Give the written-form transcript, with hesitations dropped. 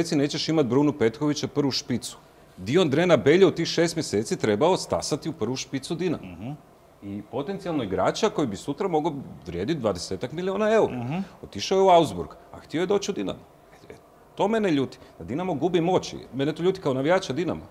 mjeseci nećeš imati Brunu Petkovića prvu špicu. Dio Drena Belje u tih 6 mjeseci trebao stasati u prvu špicu Dinama. I potencijalno igrača koji bi sutra mogao vrijediti 20 milijuna eura. Otišao je u Augsburg, a htio je doći u Dinamo. To mene ljuti. Da Dinamo gubi moći. Mene to ljuti kao navijača Dinama.